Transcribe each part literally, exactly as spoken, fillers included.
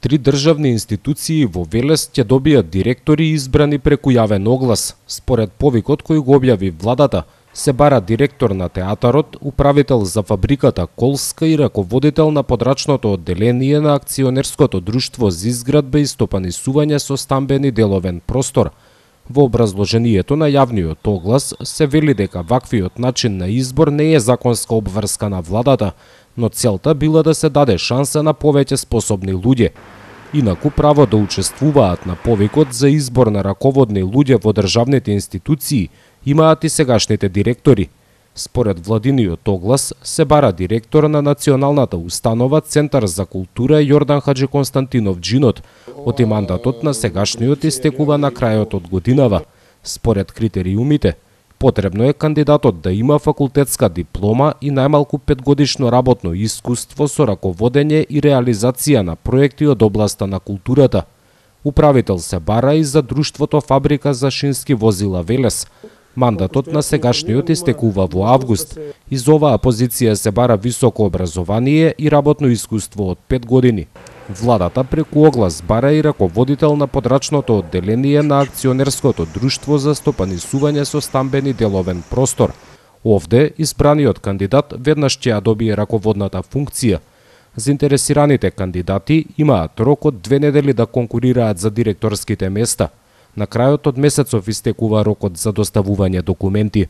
Три државни институции во Велес ќе добијат директори избрани преку јавен оглас. Според повикот кој го објави владата, се бара директор на театарот, управител за фабриката Колска и раководител на подрачното одделение на акционерското друштво за изградба и стопанисување со стамбени деловен простор. Во образложението на јавниот оглас се вели дека ваквиот начин на избор не е законска обврска на владата, но целта била да се даде шанса на повеќе способни луѓе. Инаку право да учествуваат на повикот за избор на раководни луѓе во државните институции имаат и сегашните директори. Според владиниот оглас се бара директор на националната установа Центар за култура Јордан Хаджи Константинов Джинот, оти мандатот на сегашниот истекува на крајот од годинава. Според критериумите, потребно е кандидатот да има факултетска диплома и најмалку петгодишно работно искуство со раководење и реализација на проекти од областа на културата. Управител се бара и за друштвото Фабрика за шински возила Велес. Мандатот на сегашниот истекува во август и за оваа позиција се бара високо образование и работно искуство од пет години. Владата преку оглас бара и раководител на подрачното одделение на акционерското друштво за стопанисување со стамбени деловен простор. Овде избраниот кандидат веднаш ќе ја добие раководната функција. Заинтересираните кандидати имаат рок од две недели да конкурираат за директорските места. На крајот од месецов истекува рокот за доставување документи.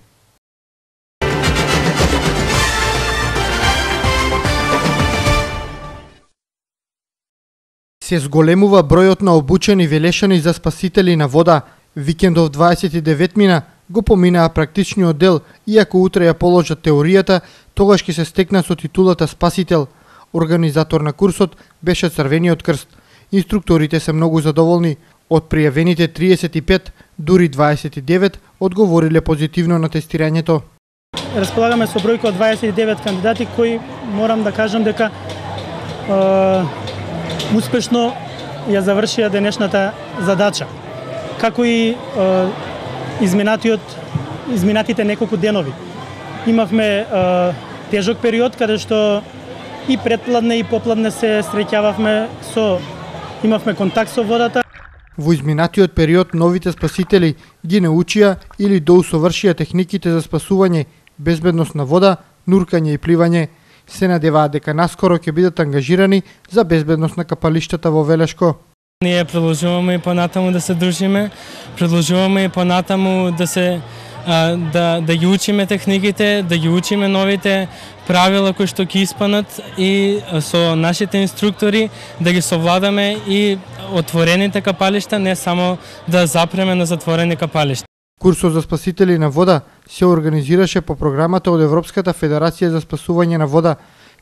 Се зголемува бројот на обучени велешани за спасители на вода. Викендов дваесет и девет мина го поминаа практичниот дел, иако утре ја положат теоријата, тогаш ќе се стекна со титулата спасител. Организатор на курсот беше Црвениот крст. Инструкторите се многу задоволни. Од пријавените триесет и пет, дури дваесет и девет одговориле позитивно на тестирањето. Располагаме со бројка од дваесет и девет кандидати кои морам да кажам дека е, успешно ја завршија денешната задача. Како и е, изминатиот изминатите неколку денови. Имавме е, тежок период каде што и предпладне и попладне се среќававме со имавме контакт со водата. Во изминатиот период новите спасители ги научија или доусовршија техниките за спасување, безбедност на вода, нуркање и пливање. Се надеваат дека наскоро ќе бидат ангажирани за безбедност на капалиштата во Велешко. Ние продолжуваме и понатаму да се дружиме, продолжуваме и понатаму да се а, да да ги учиме техниките, да ги учиме новите правила кои што ќе испанат и со нашите инструктори да ги совладаме и отворените капалишта, не само да запреме на затворени капалишта. Курсот за спасители на вода се организираше по програмата од Европската федерација за спасување на вода.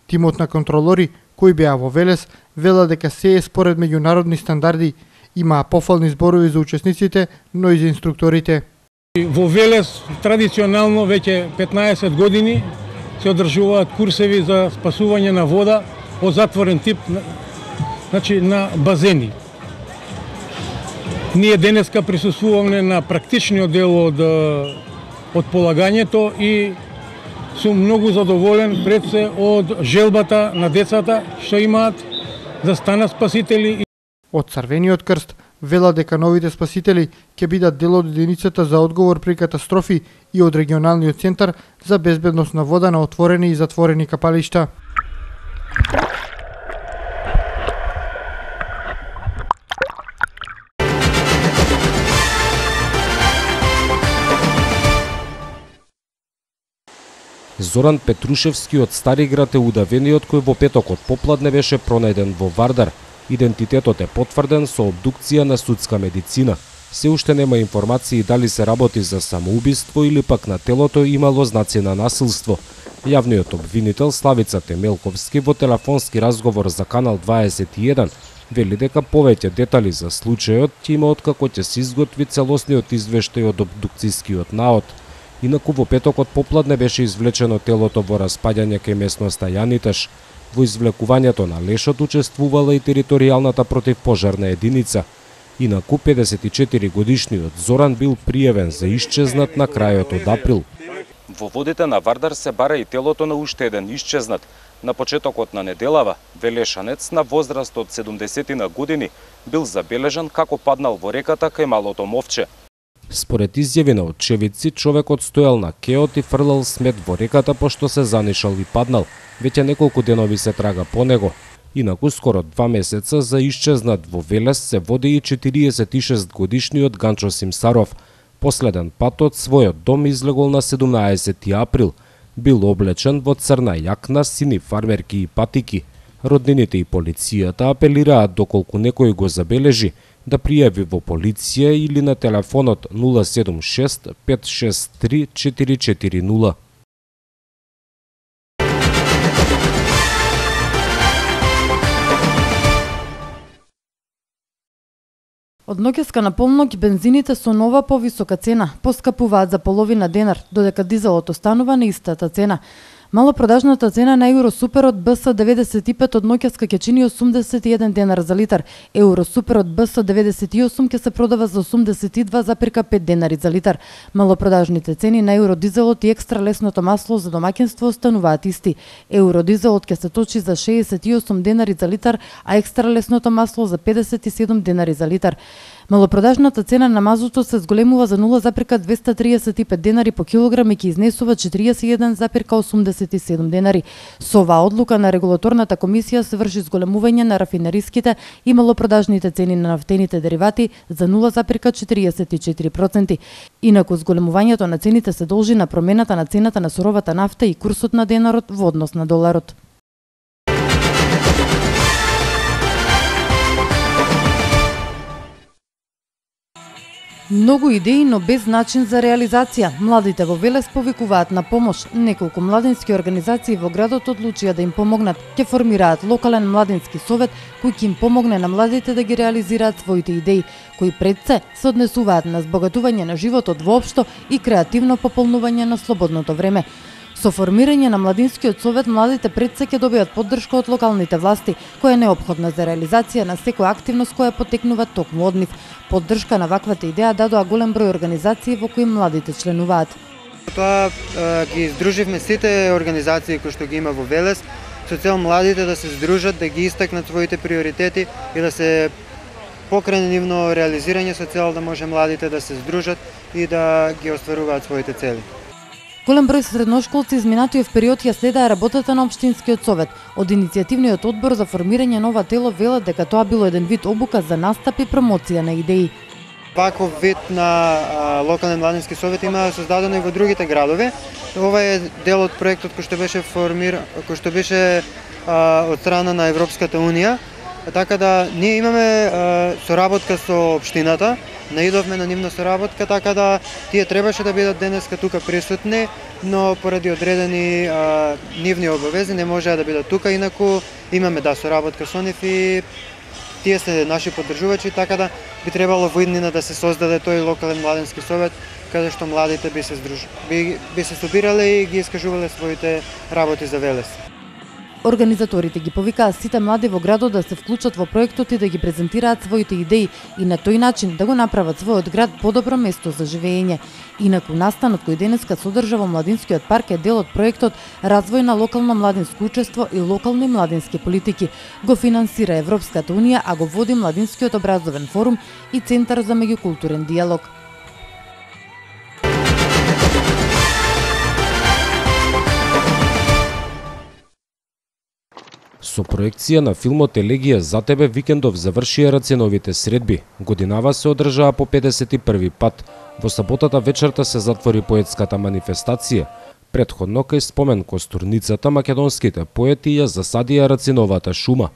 Тимот на контролори кои беа во Велес вела дека се е според меѓународни стандарди. Имаа пофални зборови за учесниците, но и за инструкторите. Во Велес традиционално веќе петнаесет години се одржуваат курсеви за спасување на вода од затворен тип, значи на базени. Ние денеска присуствуваме на практичниот дел од, од полагањето и сум многу задоволен пред се од желбата на децата што имаат да станат спасители. Од Црвениот крст вела дека новите спасители ќе бидат дел од единицата за одговор при катастрофи и од регионалниот центар за безбедност на вода на отворени и затворени капалишта. Зоран Петрушевски од Стариград е удавениот кој во петокот попладне беше пронајден во Вардар. Идентитетот е потврден со обдукција на судска медицина. Се уште нема информации дали се работи за самоубиство или пак на телото имало знаци на насилство. Јавниот обвинител Славица Темелковски во телефонски разговор за Канал дваесет и еден вели дека повеќе детали за случајот ќе има откако ќе се изготви целосниот извештај од обдукцијскиот наод. Инаку во петокот попладне беше извлечено телото во распаѓање кај местноста Јаниташ. Во извлекувањето на лешот учествувала и територијалната противпожарна единица. Инаку педесет и четири годишниот Зоран бил пријавен за исчезнат на крајот од април. Во водите на Вардар се бара и телото на уште еден исчезнат. На почетокот на неделава, велешанец на возраст од седумдесет години бил забележан како паднал во реката кај Малото Мовче. Според изјави на очевидци, човекот стоел на кеот и фрлал смет во реката пошто се занишал и паднал. Веќе неколку денови се трага по него. Инаку скоро два месеца за исчезнат во Велес се води и четириесет и шест годишниот Ганчо Симсаров. Последен пат од својот дом излегол на седумнаесети април. Бил облечен во црна јакна, сини фармерки и патики. Роднините и полицијата апелираат доколку некој го забележи да пријави во полиција или на телефонот нула седум шест пет шест три четири четири нула. Од ноќеска на полноќ бензините со нова повисока цена поскапуваат за половина денар, додека дизелот останува на истата цена. Малопродажната цена на Евросуперот Б С деветдесет и пет од ноќеска ќе чини осумдесет и еден денар за литар. Евросуперот Б С деветдесет и осум ќе се продава за осумдесет и два запирка пет денари за литар. Малопродажните цени на евродизелот и екстра лесното масло за домаќинство остануваат исти. Евродизелот ќе се точи за шеесет и осум денари за литар, а екстра лесното масло за педесет и седум денари за литар. Малопродажната цена на мазутот се зголемува за нула запирка двесте триесет и пет денари по килограм и ќе изнесува четириесет и еден запирка осумдесет и седум денари. Со оваа одлука на регулаторната комисија се врши зголемување на рафинериските и малопродажните цени на нафтените деривати за нула запирка четириесет и четири проценти. Инаку зголемувањето на цените се должи на промената на цената на суровата нафта и курсот на денарот во однос на доларот. Многу идеи, но без начин за реализација. Младите во Велес повикуваат на помош. Неколку младински организации во градот одлучија да им помогнат. Ќе формираат локален младински совет кој ќе им помогне на младите да ги реализираат своите идеи, кои пред се се однесуваат на збогатување на животот воопшто и креативно пополнување на слободното време. Со формирање на младинскиот совет, младите пред се ќе добијат поддршка од локалните власти, која е неопходна за реализација на секоја активност која потекнува токму од нив. Поддршка на ваквата идеја дадоа голем број организации во кои младите членуваат. Тоа е, ги издруживме сите организации кои што ги има во Велес, со цел младите да се здружат, да ги истакнат своите приоритети и да се покране нивно реализирање со цел да може младите да се здружат и да ги остваруваат своите цели. Голем број средношколци изминатиот период ја следаа работата на општинскиот совет. Од иницијативниот одбор за формирање нова тело велат дека тоа било еден вид обука за настап и промоција на идеи. Ваков вид на а, локален младински совет има создадено и во другите градови. Ова е дел од проектот кој што беше формира, кој што беше а, од страна на Европската унија. Така да ние имаме а, соработка со општината, наидовме на нивна соработка, така да тие требаше да бидат денеска тука присутни, но поради одредени а, нивни обавези не можеа да бидат тука, инаку имаме да соработка со нив и тие се наши поддржувачи, така да би требало во иднина да се создаде тој локален младински совет, каде што младите би се здружи, би, би се собирале и ги искажувале своите работи за Велес. Организаторите ги повикаа сите млади во градот да се вклучат во проектот и да ги презентираат своите идеи и на тој начин да го направат својот град подобро место за живење. Инаку настанот кој денеска содржа во младинскиот парк е дел од проектот Развој на локално младинско учество и локални младински политики. Го финансира Европската унија, а го води Младинскиот образовен форум и Центар за меѓукултурен диалог. Со проекција на филмот Елегија за тебе викендов завршија раценовите средби. Годинава се одржаа по педесет и први пат. Во саботата вечерта се затвори поетската манифестација. Претходно кај спомен костурницата македонските поети ја засадија рациновата шума.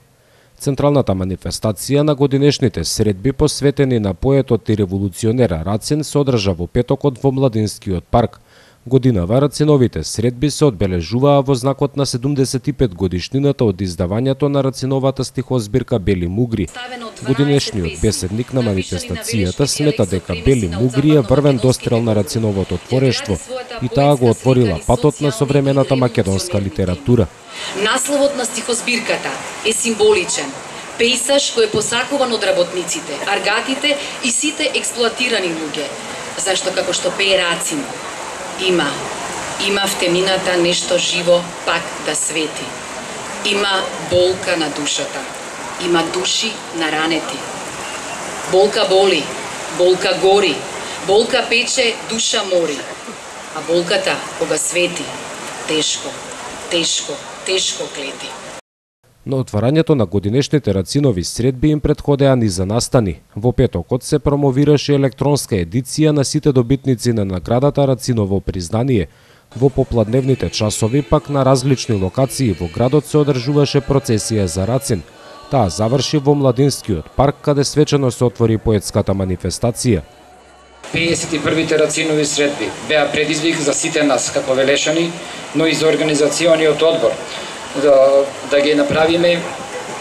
Централната манифестација на годинешните средби посветени на поетот и револуционер Рацин се одржа во петокот во Младинскиот парк. Годинава Рациновите средби се одбележуваа во знакот на седумдесет и пет годишнината од издавањето на Рациновата стихозбирка Бели мугри. Годинешниот беседник на манифестацијата смета дека Бели мугри е врвен дострел на Рациновото творештво и таа го отворила патот на современата македонска литература. Насловот на стихозбирката е символичен. Пејсаж кој е посакуван од работниците, аргатите и сите експлоатирани луѓе. Зашто како што пее Рацин, Има, има в темината нешто живо пак да свети. Има болка на душата, има души на ранети. Болка боли, болка гори, болка пече, душа мори. А болката, кога свети, тешко, тешко, тешко клети. На отварањето на годинешните Рацинови средби им предходеа низа настани. Во петокот се промовираше електронска едиција на сите добитници на наградата Рациново признание. Во попладневните часови пак на различни локации во градот се одржуваше процесија за Рацин. Таа заврши во Младинскиот парк, каде свечено се отвори поетската манифестација. пеесет и првите Рацинови средби беа предизвик за сите нас како Велешани, но и за организациониот одбор, да, да ги направиме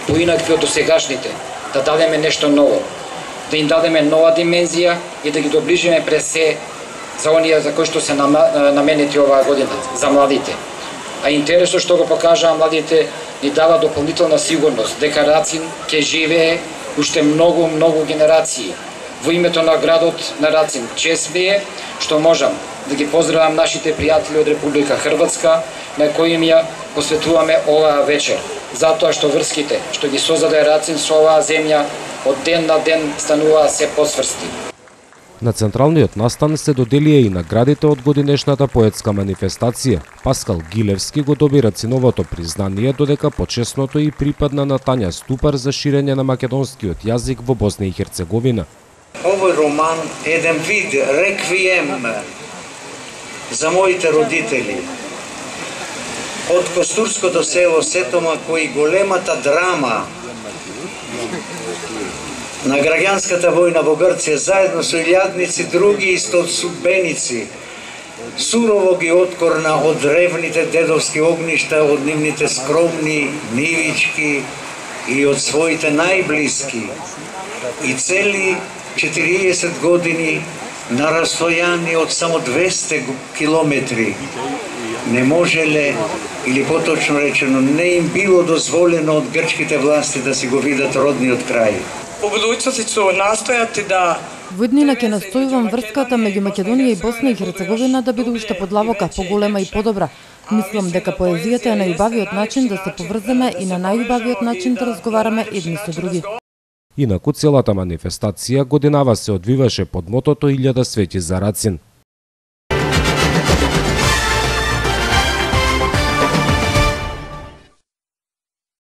поинакви од досегашните, да дадеме нешто ново, да им дадеме нова димензија и да ги доближиме през се за оние за кои што се наменети оваа година, за младите. А интересот што го покажаа младите ни дава дополнителна сигурност дека Рацин ќе живее уште многу, многу генерации. Во името на градот на Рацин, чест ми е што можам да ги поздравам нашите пријатели од Република Хрватска, на кои им ја посветуваме оваа вечер, затоа што врските што ги создаде Рацин со оваа земја од ден на ден стануваа се посврсти. На централниот настан се доделија и наградите од годинешната поетска манифестација. Паскал Гилевски го доби Рациновото признание, додека почесното и припадна на Тања Ступар за ширење на македонскиот јазик во Босна и Херцеговина. Овој роман е еден вид реквием за моите родители. Од Костурското село Сетома, кои големата драма на граѓанската војна во Грција, заедно со илјадници други истосудбеници, сурово ги откорна од древните дедовски огништа, од нивните скромни нивички и од своите најблиски. И цели четириесет години на растојание од само двесте километри не можеле, или поточно речено, не им било дозволено од грчките власти да си го видат родниот крај. Во будуćnosti ću nastojati da Во иднина ќе настојувам врската меѓу Македонија и Босна и Херцеговина да биде уште подлабока, поголема и подобра. Мислам дека поезијата е најубавиот начин да се поврземе и на најубавиот начин да разговараме едни со други. Инаку целата манифестација годинава се одвиваше под мотото илјада свети за Рацин.